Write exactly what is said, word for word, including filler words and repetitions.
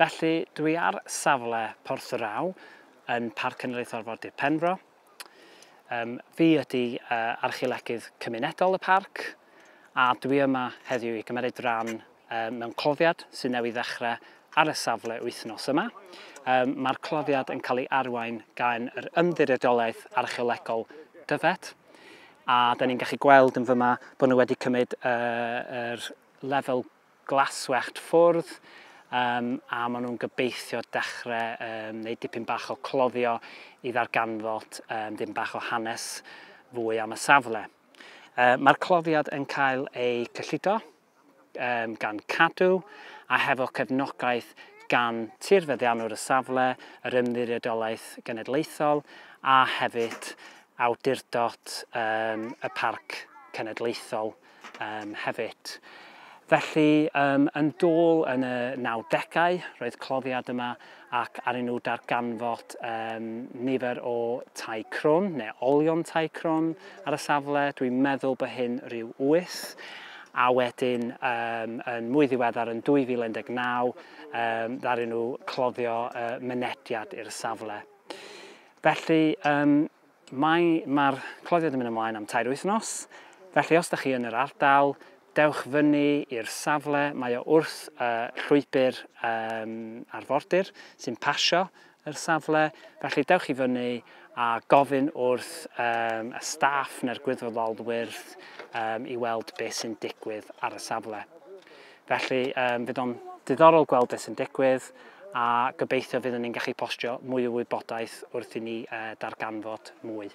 Felly, dwi ar safle Porth yr Aw yn Parc Cenedlaethol Arfordir Penfro. Um, fi ydy uh, archeolegydd cymunedol y parc, a dwi yma heddiw i gymryd rhan um, mewn cloddiad sy'n newydd ddechrau ar y safle wythnos yma. Um, Mae'r cloddiad yn cael ei arwain gan yr Ymddiriedolaeth Archeolegol Dyfed, a da ni'n gallu gweld yn fyma bod nhw wedi cymryd uh, yr lefel glaswellt ffwrdd, um, a maen nhw'n gobeithio dechrau um, neu dipyn bach o cloddio i ddarganfod um, dipyn bach o hanes fwy am y safle. Uh, Mae'r cloddiad yn cael ei cyllido um, gan Cadw a hefo cefnogaeth gan tirfeddiannwr y safle, yr Ymddiriedolaeth Genedlaethol a hefyd awdurdod um, y Parc Cenedlaethol um, hefyd. Felly, um, yn dôl yn y nawdegau, roedd cloddiad yma ac arnyn nhw darganfod um, nifer o tai crwn, neu olion tai crwn ar y safle. Dwi'n meddwl bod hyn rhyw wyth. A wedyn, um, yn mwy ddiweddar yn dwy fil un deg naw, um, ddaru nhw cloddio uh, mynediad i'r safle. Felly, um, mae'r mae cloddiad yn mynd ymlaen am tair wythnos. Felly, os ydych chi yn yr ardal, dewch fyny i'r safle. Mae o wrth uh, llwybr um, arfordir sy'n pasio yr safle. Felly, dewch i fyny a gofyn wrth um, y staff neu'r gwirfoddolwyr um, i weld beth sy'n digwydd ar y safle. Felly, um, fydd o'n diddorol gweld beth sy'n digwydd a gobeithio fyddwn ni'n gallu postio mwy o wybodaeth wrth i ni uh, darganfod mwy.